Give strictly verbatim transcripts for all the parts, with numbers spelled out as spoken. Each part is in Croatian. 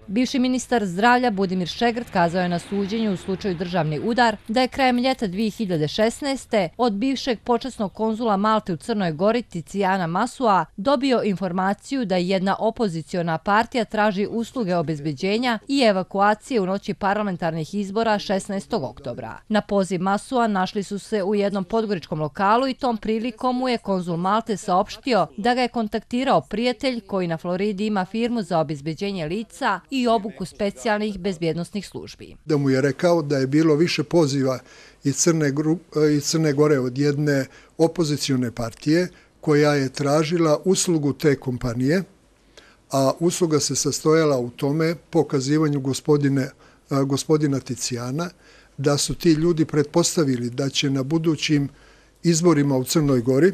Bivši ministar zdravlja Budimir Šegrt kazao je na suđenju u slučaju Državni udar da je krajem ljeta dvije hiljade šesnaeste. od bivšeg počasnog konzula Malte u Crnoj Gori Ticijana Masua dobio informaciju da jedna opoziciona partija traži usluge obezbeđenja i evakuacije u noći parlamentarnih izbora šesnaestog oktobra. Na poziv Masua našli su se u jednom podgoričkom lokalu i tom prilikom mu je konzul Malte saopštio da ga je kontaktirao prijatelj koji na Floridi ima firmu za obezbeđenje lica i obuku specijalnih bezbjednosnih službi. Da mu je rekao da je bilo više poziva iz Crne, iz Crne Gore od jedne opozicione partije koja je tražila uslugu te kompanije, a usluga se sastojala u tome, pokazivanju gospodine, gospodina Ticijana, da su ti ljudi pretpostavili da će na budućim izborima u Crnoj Gori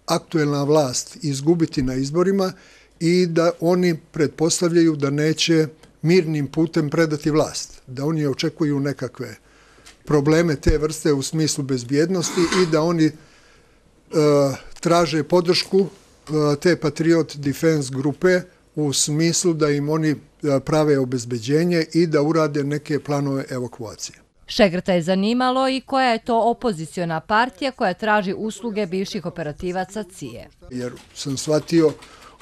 aktuelna vlast izgubiti na izborima i da oni pretpostavljaju da neće mirnim putem predati vlast, da oni očekuju nekakve probleme te vrste u smislu bezbjednosti i da oni e, traže podršku e, te Patriot Defense grupe u smislu da im oni prave obezbeđenje i da urade neke planove evakuacije. Šegrta je zanimalo i koja je to opoziciona partija koja traži usluge bivših operativaca C I E. Jer sam shvatio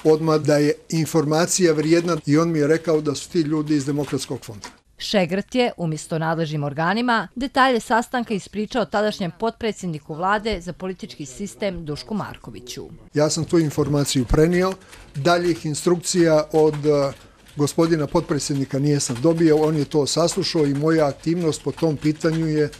odmah da je informacija vrijedna i on mi je rekao da su ti ljudi iz Demokratskog fonda. Šegrt je, umjesto nadležnim organima, detalje sastanka ispričao tadašnjem potpredsjedniku vlade za politički sistem Dušku Markoviću. Ja sam tu informaciju prenio, daljih instrukcija od gospodina potpredsjednika nisam dobio, on je to saslušao i moja aktivnost po tom pitanju je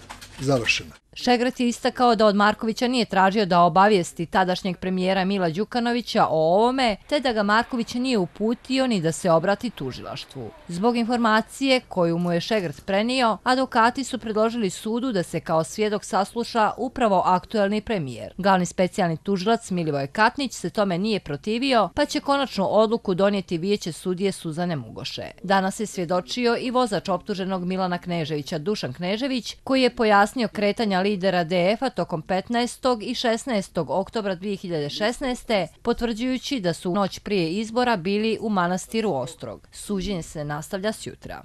završena. Šegrt je istakao da od Markovića nije tražio da obavijesti tadašnjeg premijera Mila Đukanovića o ovome, te da ga Marković nije uputio ni da se obrati tužilaštvu. Zbog informacije koju mu je Šegrt prenio, advokati su predložili sudu da se kao svjedok sasluša upravo aktuelni premijer. Glavni specijalni tužilac Milivoje Katnić se tome nije protivio, pa će konačnu odluku donijeti vijeće sudije Suzane Mugoše. Danas je svjedočio i vozač optuženog Milana Kneževića Dušan Knežević, koji je pojasnio kretanja lidera D F-a tokom petnaestog i šesnaestog oktobra dvije hiljade šesnaeste. potvrđujući da su u noć prije izbora bili u manastiru Ostrog. Suđenje se nastavlja sjutra.